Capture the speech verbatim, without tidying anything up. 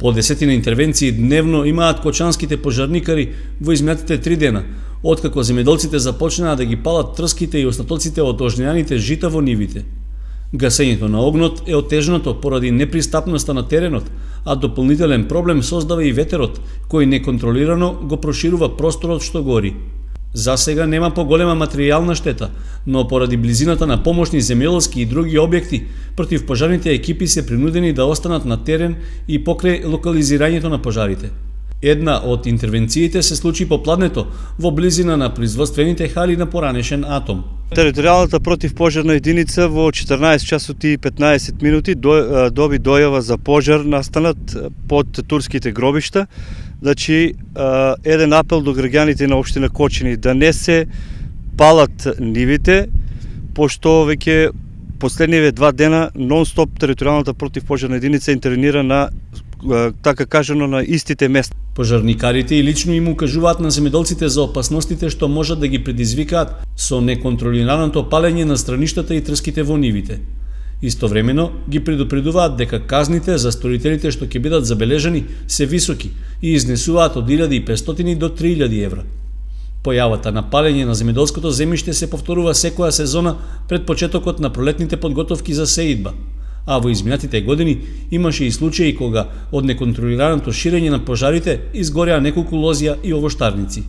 По десетина интервенции дневно имаат кочанските пожарникари во изминатите три дена, откако земјоделците започнаа да ги палат трските и остатоците од ожнеаните жита во нивите. Гасењето на огнот е отежнато поради непристапноста на теренот, а дополнителен проблем создава и ветерот, кој неконтролирано го проширува просторот што гори. За сега нема поголема материјална штета, но поради близината на помошни земјоделски и други објекти, противпожарните екипи се принудени да останат на терен и покрај локализирањето на пожарите. Една од интервенциите се случи попладнето во близина на производствените хали на поранешен атом. Територијалната противпожарна единица во четрнаесет часот и петнаесет минути доби дојава за пожар настанат под турските гробишта. Значи, еден апел до граѓаните на општина Кочани да не се палат нивите, пошто веќе последниве два дена нон-стоп територијалната противпожарна единица интервенира на, така кажано, на истите места. Пожарникарите и лично им укажуваат на земјоделците за опасностите што можат да ги предизвикаат со неконтролираното палење на страништата и трските во нивите. Истовремено ги предупредуваат дека казните за сторителите што ќе бидат забележани се високи и изнесуваат од илјада и петстотини до три илјади евра. Појавата на палење на земјоделското земјиште се повторува секоја сезона пред почетокот на пролетните подготовки за сеидба, а во изминатите години имаше и случаи кога од неконтролираното ширење на пожарите изгореа неколку лозја и овоштарници.